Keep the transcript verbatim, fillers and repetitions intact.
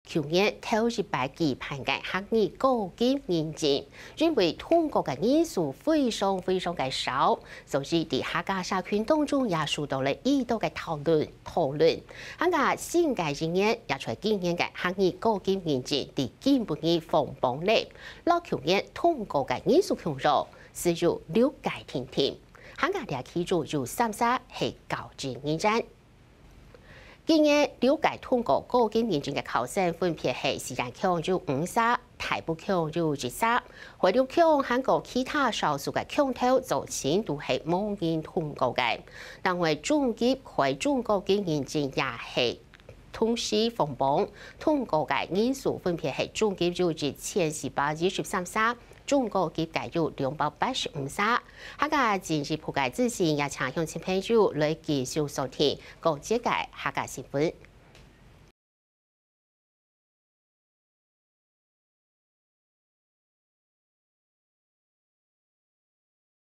舊年頭一擺舉辦个客語高級認證，因為通過个人數非常非常个少，所以在客家社群當中也受到了異多个討論討論。客家新个一年也在今年个客語高級認證在今晡日放榜了，摎舊年通過个人數共樣，只有六个定定。客家這期間有三儕係高級認證。 今年六屆通過高級認證个考生分別係四縣腔有五儕、大埔腔有一儕、回流腔還過其他少數个腔頭，早前都係無人通過个。另外中級、開中高級認證也係同時放榜，通過个人數分別係中級有一千四百一十三儕， 中高級个有兩百八十五儕。客家進一步个資訊，也請鄉親朋友來繼續鎖定各節个客家新聞。